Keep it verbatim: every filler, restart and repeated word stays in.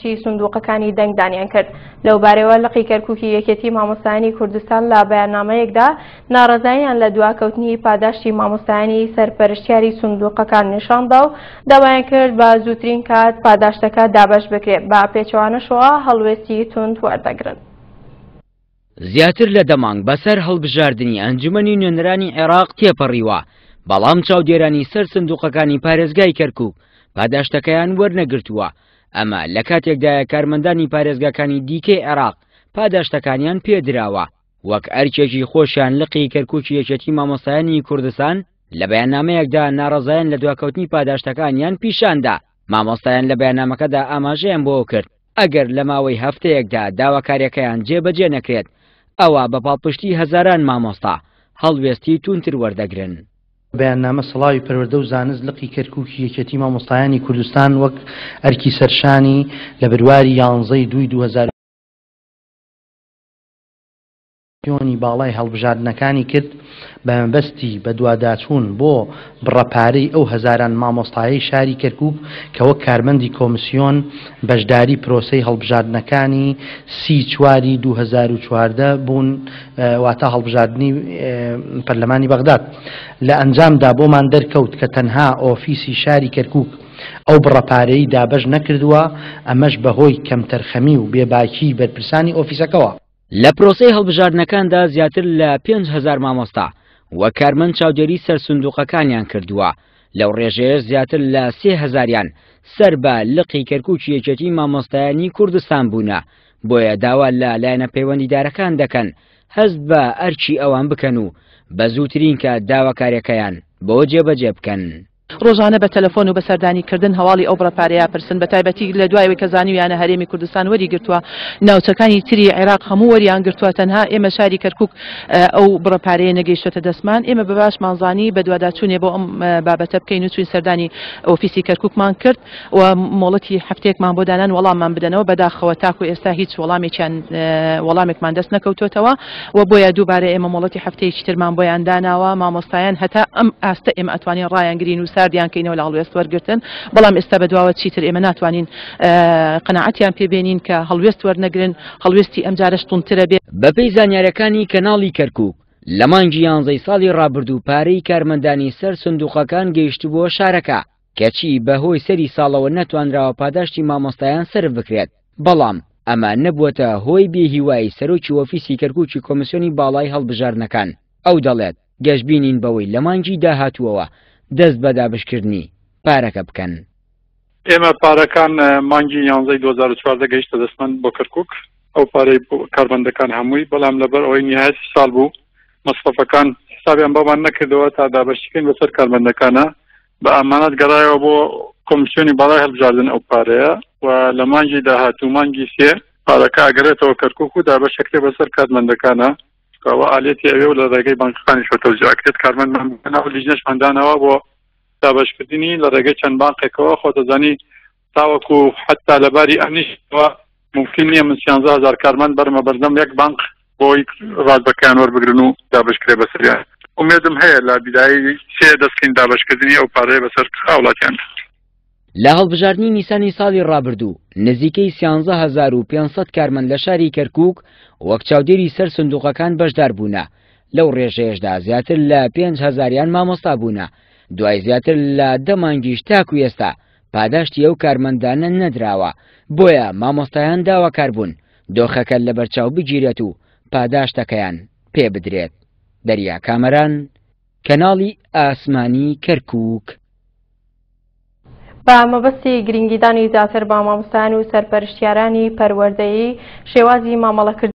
سندوقەکانی دەنگدانیان کرد. لەوبارەیەوە لقی کەرکوکی یەکێتی مامۆستایانی کوردستان لە بەیاننامەیەکدا ناڕەزاییان لە دواکەوتنی پاداشتی مامۆستایانی سەرپەرشتیاری سندوقەکان نیشاندا و داوایان کرد بە زووترین کات پاداشتەکە دابەش بکرێت، بە پێچەوانەشەوە هەڵوێستی توند وەردەگرن. زیاتر لە دە مانگ بەسەر هەڵبژاردنی ئەنجومەنی نوێنەرانی عێراق تێپەڕیوە، بەڵام چاودێرانی سەر سندوقەکانی پارێزگای کەرکوک پاداشتەکەیان وەرنەگرتووە. ئەمە لە کاتێکدایە کارمەندانی پارێزگاکانی دیکەی عێراق پاداشتەکانیان پێدراوە. وەک ئەرکێکی خۆشیان لقی کەرکوکی یەکێتی مامۆستایانی کوردستان لە بەیاننامەیەکدا ناڕەزایان لە دواکەوتنی پاداشتەکانیان پیشاندا. مامۆستایان لە بەیاننامەکەدا ئاماژەیان بۆ کرد ئەگەر لە ماوەی هەفتەیەکدا داواکاریەکەیان جێبەجێ نەکرێت ئەوە بە پاڵپشتی هەزاران مامۆستا هەڵوێستی توندتر وەردەگرن. بەیاننامە سڵاوی پەروەردە و زانست لقی کەرکوکی یەکێتی مامۆستایانی کوردستان وەک ئەرکی سەرشانی لە بەرواری یانزەی دووی دوو هەزار یۆنی باڵای هەڵبژاردنەکانی کرد بە مەبەستی بەدواداچوون بۆ بڕەپارەی ئەو هەزاران مامۆستایەی شاری کەرکوک کە وەک کارمەندی کۆمسیۆن بەشداری پرۆسەی هەڵبژاردنەکانی سی چواری دوو هەزار و چواردە بوون، واتە هەڵبژاردنی پەرلەمانی بەغداد. لە ئەنجامدا بۆمان دەرکەوت کە تەنها ئۆفیسی شاری کەرکوک ئەو بڕەپارەی دابەش نەکردووە، ئەمەش بەهۆی کەمتەرخەمی و بێباکی بەرپرسانی ئۆفیسەکەوە. لە پرۆسەی هەڵبژاردنەکاندا زیاتر لە پێنج هەزار مامۆستا و کارمەند چاودێری سەر سندوقەکانیان کردووە، لەو ڕێژەیە زیاتر لە سێ هەزاریان سەر بە لقی کەرکوکی یەکێتی مامۆستایانی کوردستان بوونە. بۆیە داوا لە لایەنە پەیوەندیدارەکان دەکەن هەست بە ئەرکی ئەوان بکەن و بە زووترین کات داواکاریەکەیان بۆ جێبەجێ بکەن. ڕۆژانە بە تەلەفۆن و بە سەردانیکردن هەواڵی ئەو بڕەپارەیە پرسن، بە تایبەتی لە دوایەوەی کە زانیویانە هەرێمی کوردستان وەری گرتووە، ناوچەکانی تری عێراق هەموو وەریان گرتووە، تەنها ئێمە شاری کەرکوک ئەو بڕەپارەیە نەگەیشتۆتە دەستمان. ئێمە بە باشمان زانی بەدواداچوونێ بۆ ئەم بابەتە بکەین و چوین سەردانی ئۆفیسی کەرکوکمان کرد و مۆڵەتی هەفتەیەکمان بۆ دانان وەڵاممان بدەنەوە. بەداخەوە تاکو ئێستا هیچ وەڵامێکیان وەڵامێکمان دەست نەکەوتوێتەوە و بۆیە دووبارە ئێمە مۆڵەتی هەفتەیەکی ترمان بۆیان داناوە. مامۆستایان هەتا ئەم ئاستە ئێمە ئەتوانین ڕایانگرین و ساردیان کەینەوە لە هەڵوێست وەرگرتن، بەڵام ئێستا بەدواوە چیتر ئێمە ناتوانین قەناعەتیان پێبێنین کە هەڵوێست وەرنەگرن، هەڵوێستی ئەمجارەش توندترە بێ. بەپێی زانیارەکانی کەناڵی کەرکوک لە مانگی یانزەی ساڵی ڕابردوو پارەی کارمەندانی سەر سندوقەکان گەیشتبووە شارەکە، کەچی بەهۆی سەری ساڵەوە نەتوانراوە پاداشتی مامۆستایان سەرف بکرێت. بەڵام ئەمە نەبووەتە هۆی بێهیوایی سەرۆکی ئۆفیسی کەرکوکی کۆمیسیۆنی باڵای هەڵبژاردنەکان. ئەو دەڵێت گەشبینین بەوەی لە مانگی داهاتووەوە دەست بە دابشکردنی پارەکە بکەن. ئێمە پارەکان مانگی یانزەی دوو هەزار و چواردە گەیشتە دەستمان بۆ کەرکوک، ئەو پارەی کارمەندەکان هەمووی، بەڵام لەبەر ئەوەی نهایەتی ساڵ بوو مەسرەفەکان حسابیان بەمان نەکردەوە تا دابەشیکەین بەسەر کارمەندەکانە، بە ئامانەت گەڕایەوە بۆ کۆمیسیۆنی باڵای هەڵبژاردن ئەو پارەیە و لە مانگی داهاتوو مانگی سێ پارەکە ئەگەڕێتەوە کەرکوک و دابەشەکرێ بەسەر کارمەندەکانە. ئەوە ئالێتی ئەوێ و لە ڕێگەی بانکەکانیشەوە تەوزیع ئەکرێت. کارمەندمان بەناو لیژنەشمان داناوە بۆ دابەشکردنی لە ڕێگەی چەند بانقێکەوە. خۆتەزانی تاوەکو حتا لەباری ئەمنیشەوە ممکن نییە من سیانزە هەزار کارمەند بەرمە بەردەم یەک بانق بۆی ڕاتبەکەیان وەربگرن و دابەشکرێ بەسەریان. ئومێدم هەیە لە بیدایی سێ دەستکەین دابەشکردنی ئەو پارەیە بەسەر هاوڵاتیان. لە هەڵبژاردنی نیسانی ساڵی ڕابردوو نزیکەی سیانزە هەزار و پێنج سەد کارمەند لە شاری کەرکوک وەک چاودێری سەر سندوقەکان بەشدار بوونە، لەو ڕێژەیەشدا زیاتر لە پێنج هەزاریان مامۆستا بوونە. دوای زیاتر لە دە مانگیش تاکو ئێستا پاداشتی ئەو کارمەندانە نەدراوە، بۆیە مامۆستایان داواکار بوون دۆخەکە لەبەرچاو بگیرێت و پاداشتەکەیان پێ بدرێت. دەریا کامەران، کەناڵی ئاسمانی کەرکوک. بە مەبەستی گرنگیدانی زیاتر بە مامۆستایان و سەرپەرشتیارانی پەروەردەیی شێوازی مامەڵەکردن